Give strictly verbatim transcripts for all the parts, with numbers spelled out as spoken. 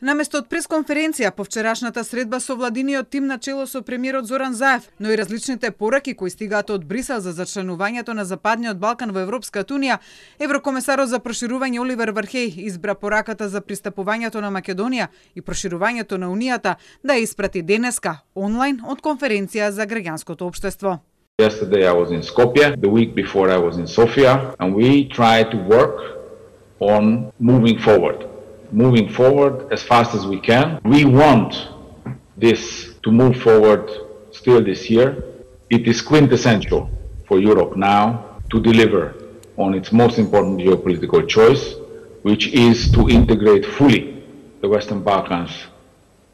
Наместо од пресконференција по вчерашната средба со владиниот тим на чело со премиерот Зоран Заев, но и различните пораки кои стигаат од Брисел за зачленувањето на Западниот Балкан во Европската унија, еврокомесарот за проширување Оливер Вархеј избра пораката за пристапувањето на Македонија и проширувањето на Унијата да ја испрати денеска онлайн од конференција за граѓанското општество. Yesterday I was in Skopje, the week before I was in Sofia, and we try to work on moving forward. Moving forward as fast as we can. We want this to move forward still this year. It is quintessential for Europe now to deliver on its most important geopolitical choice, which is to integrate fully the Western Balkans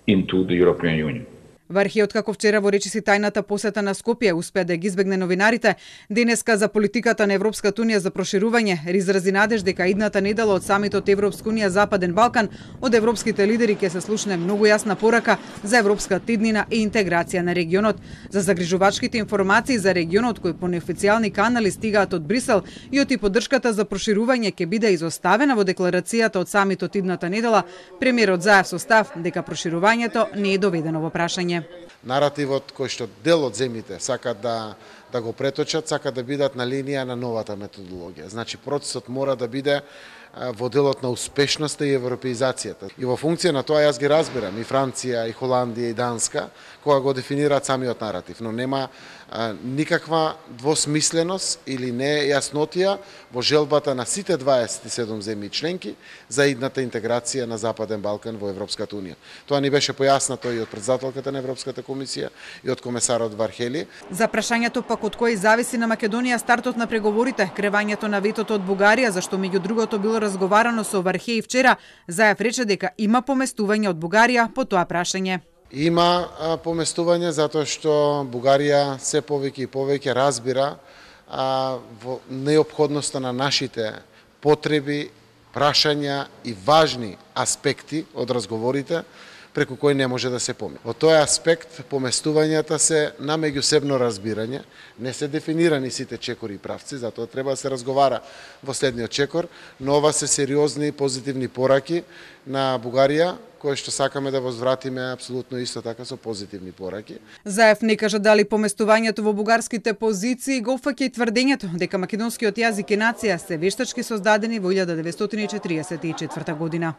into the European Union. Вархејот, како вчера во речиси тајната посета на Скопје, успеа да ги избегне новинарите. Денеска за политиката на Европската унија за проширување изрази надеж дека идната недела од самитот Европска унија Западен Балкан од европските лидери ќе се слушне многу јасна порака за европска тиднина и интеграција на регионот. За загрижувачките информации за регионот кои по неофицијални канали стигаат од Брисел и од и поддршката за проширување ќе биде изоставена во декларацијата од самитот идната недела, премиерот Заев со став дека проширувањето не е доведено во прашање. Наративот кој што дел од земјите сакат да да го преточат, сакат да бидат на линија на новата методологија. Значи процесот мора да биде во делот на успешноста и европеизацијата. И во функција на тоа јас ги разбирам и Франција, и Холандија, и Данска, кога го дефинираат самиот наратив, но нема а, никаква двосмисленост или нејаснотија во желбата на сите дваесет и седум земји членки за идната интеграција на Западен Балкан во Европската унија. Тоа ни беше појаснато и од претседателката на Европската комисија и од комесарот Вархели. За прашањето пак од кој зависи на Македонија стартот на преговорите, кревањето на ветото од Бугарија, зашто меѓу другото било разговарано со Вархеј вчера, Заев рече дека има поместување од Бугарија по тоа прашање. Има поместување затоа што Бугарија се повеќе и повеќе разбира а, во неопходноста на нашите потреби, прашања и важни аспекти од разговорите преку кој не може да се помине. Во тој аспект поместувањата се на меѓусебно разбирање, не се дефинирани сите чекори и правци, затоа треба да се разговара во следниот чекор, но ова се сериозни позитивни пораки на Бугарија, кои што сакаме да возвратиме апсолутно исто така со позитивни пораки. Заев не кажа дали поместувањето во бугарските позиции го опфаќа и тврдењето дека македонскиот јазик и нација се вештачки создадени во илјада деветстотини и четиридесет и четврта година.